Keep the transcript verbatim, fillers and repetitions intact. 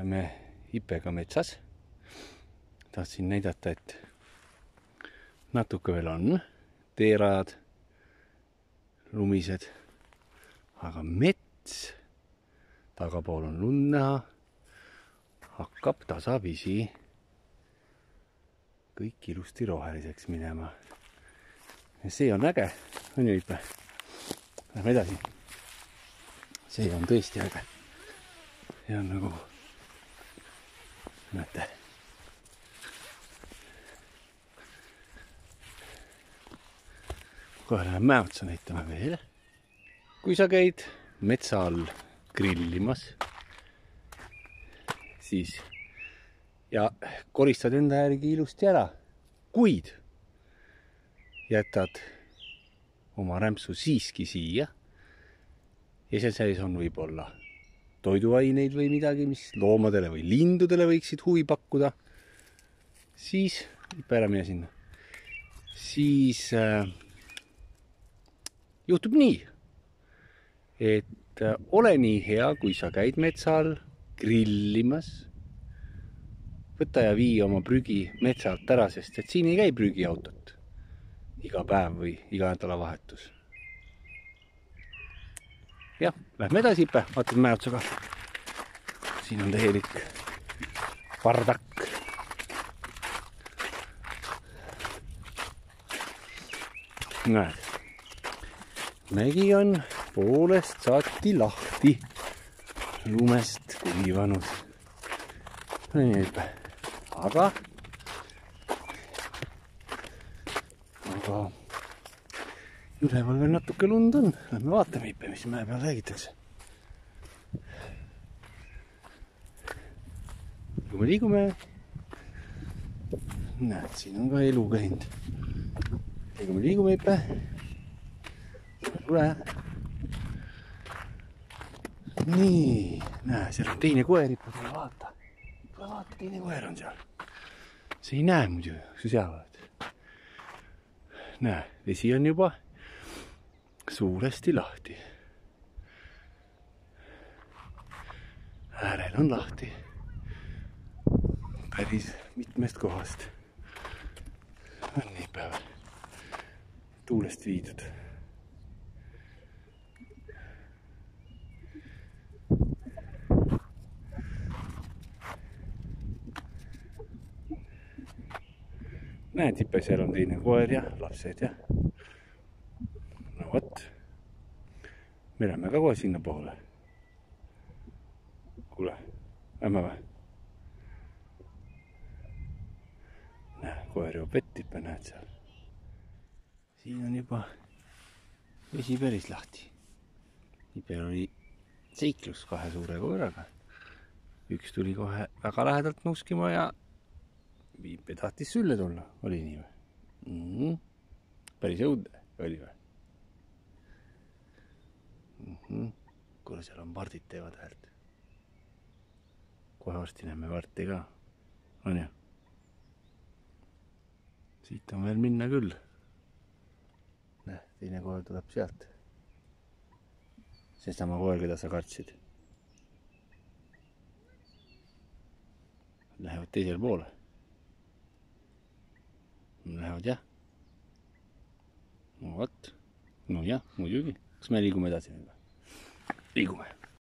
oleme Ipega metsas. Tahtsin näidata, et natuke veel on teerajad, lumised, aga mets, tagapool on lund näha, hakkab tasapisi kõik ilusti roheliseks minema. Ja see on äge, on ju Ipe? Lähme edasi. See on tõesti äge. See on nagu, näete. Kohe läheme mäe otsa näitama veel. Kui sa käid metsa all grillimas, siis ja koristad enda järgi ilusti ära, kuid jätad oma rämpsu siiski siia ja seal sees on võib-olla toiduaineid või midagi, mis loomadele või lindudele võiksid huvi pakkuda, siis, ära mine sinna, siis äh, juhtub nii, et äh, ole nii hea, kui sa käid metsa all grillimas, võta ja vii oma prügi metsa alt ära, sest et siin ei käi prügiautot iga päev või iga nädalavahetus. Jah, lähme edasi, Ipe, vaatad mäe otsa ka. Siin on täielik pardak. Näed, mägi on poolest saati lahti lumest kuivanud. Nii, Ipe, aga aga üleval veel natuke lund on. Lähme vaatame, Ipe, mis mäe peal räägitakse. Kui me liigume, näed, siin on ka elu käinud. Ja kui me liigume, Ipe, tule. Nii, näe, seal on teine koer, Ipe, tule vaata. Tule vaata, teine koer on seal. See ei näe muidu, kui sa seal oled. Näe, vesi on juba suuresti lahti. Äärel on lahti. Päris mitmest kohast. On nii päeval. Tuulest viidud. Näed, Ipe, seal on teine koer ja lapsed ja no vot, me lähme ka kohe sinna poole. Kuule, lähme või? Näe, koer juba vett, Ipe, näed seal. Siin on juba vesi päris lahti. Ipel oli seiklus kahe suure koeraga. Üks tuli kohe väga lähedalt nuuskima ja Ipe tahtis sülle tulla, oli nii või? Mm -hmm. Päris õudne oli või? Mm -hmm. Kuule, seal on vardid teevad häält. Kohe varsti näeme varti ka. On ju? Siit on veel minna küll. Näe, teine koer tuleb sealt. See sama koer, keda sa kartsid. Lähevad teisel poole. Lähevad jah. No vot. No jah, muidugi. Kas me liigume edasi? Liigume.